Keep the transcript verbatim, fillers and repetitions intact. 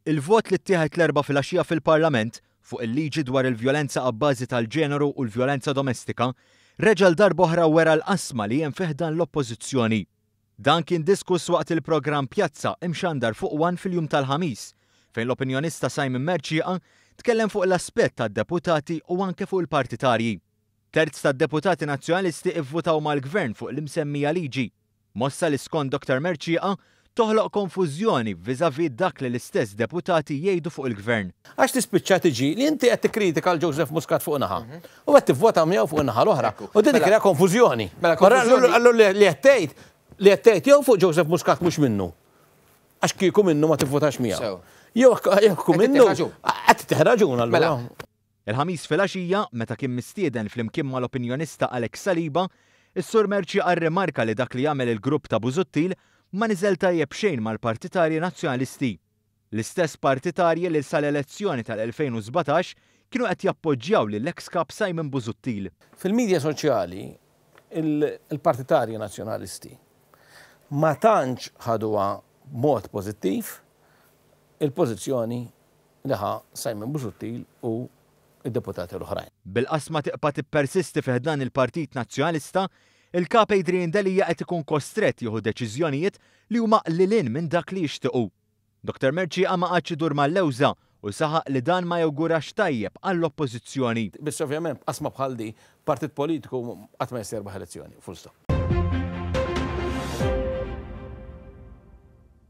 Il-vot li ttieħed l-Erbgħa filgħaxija fil-Parlament fuq il-liġi dwar il-vjolenza abbażi tal-ġeneru u l-vjolenza domestika reġa' għal darb'oħra wera l-qasma li hemm fi ħdan l-Oppożizzjoni. Dan kien diskuss waqt il-programm Pjazza imxandar fuq One fil-jum tal-Ħamis, fejn l-opinjonista Simon Mercieca tkellem fuq l-aspett tad-deputati u anke fuq il-partitarji. Terz tad-deputati Nazzjonalisti ivvutaw mal-Gvern fuq l-imsemmija liġi. Mossa li skont Doktor Mercieca toħloq konfużjoni vis-à-vis dak li l-istess deputati jgħidu fuq il-Gvern. Għax tispiċċa tiġi li inti qed tikkritika l Joseph Muscat fuq naħa u qed tivvota miegħu fuq naħa l-oħra. U din tikkrea konfużjoni. Mela, konfużjoni. Allura li qed tgħid li qed tgħid jew fuq Joseph Muscat mhux minnu. Għax kieku minnu ma tivvotax miegħu. Sew. Jew jekk Qed minnu tieħ raġun. Qed tieħ raġun allura. Mela. Il-Ħamis filgħaxija, meta kien mistieden flimkien mal-opinjonista Alex Saliba, is-Sur Mercieca rrimarka li dak li jagħmel il-grupp ta' Busuttil ma niżel tajjeb xejn mal-partitarji Nazzjonalisti. L-istess partitarji li sal-elezzjoni tal-elfejn u sbatax kienu qed jappoġġjaw lill-ex kap Simon Busuttil. Fil-medja soċjali, il-, il-partitarji Nazzjonalisti ma tantx ħaduha b'mod pożittiv il-pożizzjoni li ħa Simon Busuttil u id-deputati l-oħrajn. Bil-qasma tibqa' tippersisti fi ħdan il-Partit Nazzjonalista, il-kap Adrian Delia qed ikun kostrett jieħu deċiżjonijiet li huma lil hinn minn dak li jixtiequ. Doktor Mercieca ma qagħadx idur mal-lewża u saħaq li dan ma jawgurax tajjeb għall-oppożizzjoni. Biss ovvjament qasma bħal di, partit politiku qatt ma jista' jirbaħ elezzjoni, full stop.